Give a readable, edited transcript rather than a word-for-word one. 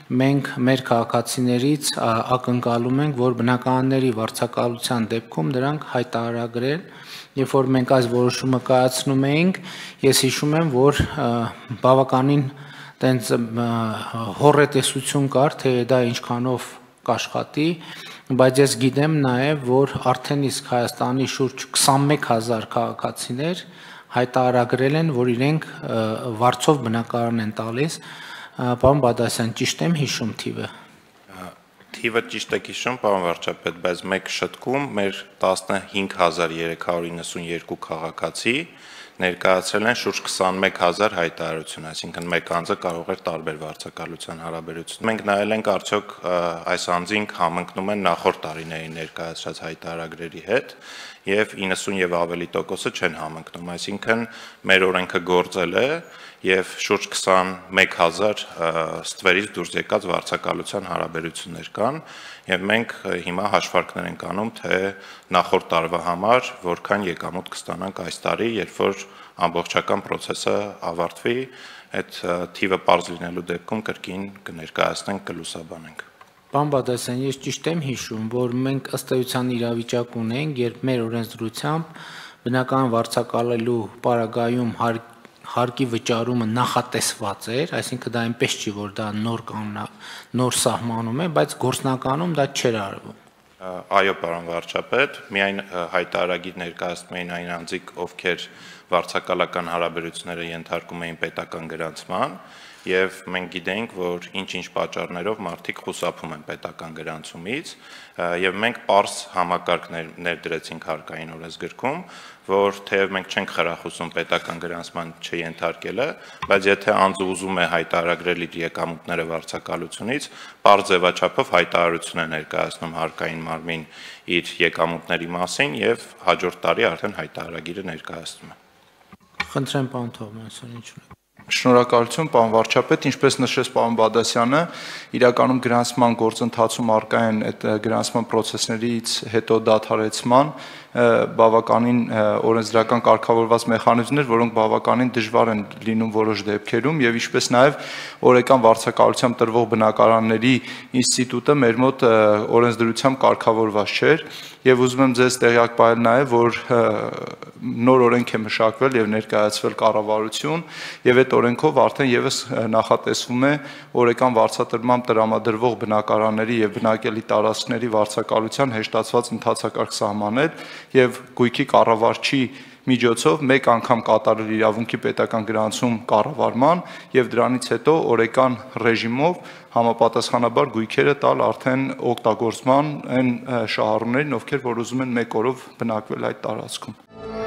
մենք մեր քաղաքացիներից ակնկալում ենք, որ բնակարանների վարձակալության դեպքում դրանք հայտարարագրեն, երբ որ մենք այս որոշումը կայացնում էինք, ես հիշում եմ, որ բավականին տենց հոռետեսություն կար, թե դա ինչքանով կաշխատի, բայց ես գիտեմ նաև, որ արդեն իսկ Հայաստանի շուրջ 21000 քաղաքացիներ հայտարարագրել են, որ իրենք վարձով բնակարան են տալիս, պարոն Բադասյան, ճիշտ եմ հիշում թիվը։ Թիվը ճիշտ եք հիշում, պարոն վարչապետ, բայց մեկ շտկում մեր 15392 քաղաքացի ներկայացրել են շուրջ 21000 հայտարարություն, այսինքն մեկ անձը կարող էր տարբեր վարձակալության հարաբերություն։ Մենք նայել ենք արդյոք այս անձինք համընկնում են նախորդ տարիների ներկայացրած հայտարարագրերի հետ եւ 90 եւ ավելի տոկոսը չեն համընկնում, այսինքն մեր օրենքը գործել է եւ շուրջ 21000 ստվերից դուրս եկած վարձակալության հարաբերություններ կան եւ մենք հիմա հաշվարկներ ենք անում, թե նախորդ տարվա համար որքան եկամուտ կստանանք այս տարի, երբ որ ամբողջական process-ը ավարտվի, այդ թիվը պարզ լինելու դեպքում կրկին կներկայացնենք, կլուսաբանենք։ Պարոն Բադասյան, ես ճիշտ եմ հիշում, որ մենք ըստ էության իրավիճակ ունենք, երբ մեր օրենսդրությամբ բնական վարձակալելու պարագայում հարկի վճարումը նախատեսված էր, այսինքն դա այնպես չի, որ դա նոր սահմանում է, բայց գործնականում դա չէր արվում։ Այո, պարոն վարչապետ, միայն հայտարարագիր ներկայացնում էին այն անձիկ, ովքեր վարձակալական հարաբերությունները ենթարկում էին պետական գրանցման, եւ մենք գիտենք, որ ինչ-ինչ պատճառներով մարդիկ խուսափում են պետական գրանցումից, եւ մենք պարզ համակարգ ներդրեցինք հարկային օրենսգրքում, որ թեև մենք չենք խրախուսում պետական գրանցման չենթարկելը, բայց եթե անձը ուզում է հայտարարել իր եկամուտները վարձակալությունից, պարզ ձևաչափով հայտարարություն է ներկայացնում հարկային մարմին իր եկամուտների մասին եւ հաջորդ տարի արդեն հայտարարագիրը ներկայացնում է։ Խնդրեմ, պարոն Թովմասյան, ինչ ունեք։ Շնորհակալություն, պարոն վարչապետ, ինչպես նշեց պարոն Բադասյանը, իրականում գրանցման գործընթացում առկա են այդ գրանցման process-ներից հետո դադարեցման բավականին օրենսդրական կարգավորված մեխանիզմներ, որոնք բավականին դժվար են լինում որոշ դեպքերում եւ ինչպես նաեւ օրեկան վարձակալությամբ տրվող բնակարանների ինստիտուտը մեր մոտ օրենսդրությամբ կարգավորված չէր եւ ուզում եմ ձեզ տեղյակ պահել նաեւ, որ նոր օրենք է մշակվել եւ ներկայացվել կառավարություն եւ այդ օրենքով արդեն եւս նախատեսվում է օրեկան վարձատրմամբ տրամադրվող բնակարանների եւ բնակելի տարածքների վարձակալության հեշտացված ընթացակարգ սահմանել եւ գույքի կառավարչի միջոցով մեկ անգամ կատարել իրավունքի պետական գրանցում կառավարման եւ դրանից հետո օրեկան ռեժիմով համապատասխանաբար գույքերը տալ արդեն օգտագործման այն շահառուներին, ովքեր որ ուզում են մեկ օրով բնակվել այդ տարածքում։